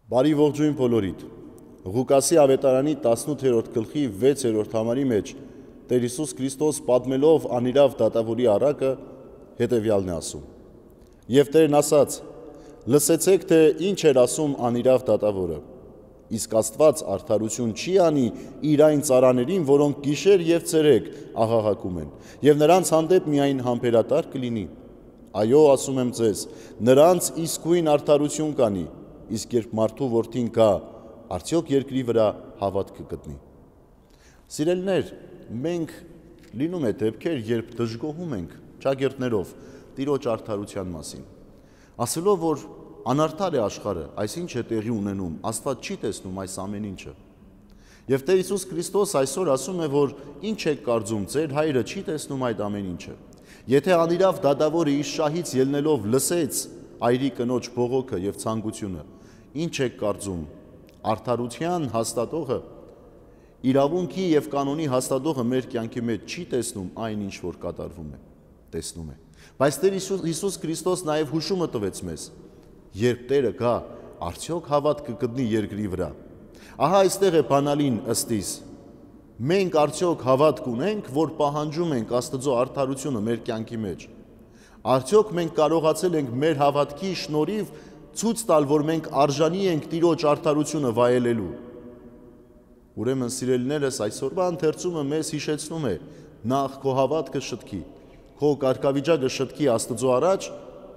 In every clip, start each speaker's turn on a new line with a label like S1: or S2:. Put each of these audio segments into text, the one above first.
S1: Բարի ողջույն բոլորիդ։ Ղուկասի ավետարանի 18-րդ գլխի 6-րդ համարի մեջ Տեր Հիսուս Քրիստոս պատմելով անիրավ դատավորի առակը հետևյալն է ասում. Եվ Տերն ասաց. լսեցեք, թե ինչ էր ասում անիրավ դատավորը, իսկ Աստված արդարություն չի անի իր այն ծառաներին, որոնք գիշեր և ցերեկ աղաղակում են, և նրանց հանդեպ միայն համբերատար կլինի։ Այո, ասում եմ ձեզ, նրանց իսկույն արդարություն կանի, իսկ երբ մարդու որդին գա, արդյոք երկրի վրա հավատք կգտնի։ Սիրելիներ, մենք լինում է դեպքեր, երբ դժգոհում ենք ճագերտներով Տիրոջ արդարության մասին, ասելով, որ անարդար է աշխարհը, այսինչ է տեղի ունենում, Աստված չի տեսնում այս ամեն ինչը։ Եվ Տեր Հիսուս Քրիստոս այսօր ասում է, որ ինչ եք կարծում, ձեր հայրը չի տեսնում այդ ամեն ինչը։ Եթե անիրավ դատավորը իր շահից ելնելով լսեց այրի կնոջ բողոքը եւ ցանկությունը, ինչ եք կարծում, արդարության հաստատողը, իրավունքի եւ կանոնի հաստատողը մեր կյանքի մեջ չի տեսնում այն, ինչ որ կատարվում է, տեսնում է։ Բայց Տեր Հիսուս Քրիստոս նաեւ հուշումը տվեց մեզ, երբ Տերը գա, արդյոք հավատք կգտնի երկրի վրա։ Ահա այստեղ է բանալին ըստիս։ Մենք արդյոք հավատք ունենք, որ պահանջում ենք Աստծո արդարությունը մեր կյանքի մեջ։ Արդյոք մենք կարողացել ենք մեր հավատքի շնորհիվ ցույց տալ, որ մենք արժանի ենք Տիրոջ արդարությունը վայելելու։ Ուրեմն սիրելիներս, այսօրվա ընթերցումը մեզ հիշեցնում է, նախ քո հավատքը շտկի, քո կարգավիճակը շտկի Աստծո առաջ,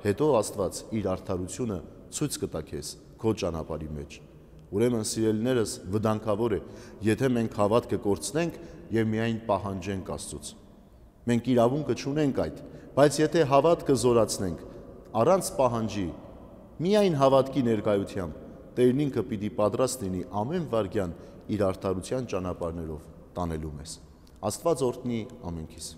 S1: հետո Աստված իր արդարությունը ցույց կտա քեզ քո ճանապարհի մեջ։ Ուրեմն սիրելիներս, վտանգավոր է, եթե մենք հավատքը կորցնենք եւ միայն պահանջենք Աստծուց։ Մենք իրավունքը չունենք այդ, բայց եթե հավատքը զորացնենք, առանց պահանջի, միայն հավատքի ներկայությամբ, Տերն ինքը պիտի պատրաստ լինի ամեն վայրկյան իր արդարության ճանապարհներով տանելու մեզ։ Աստված օրհնի ամենքիս։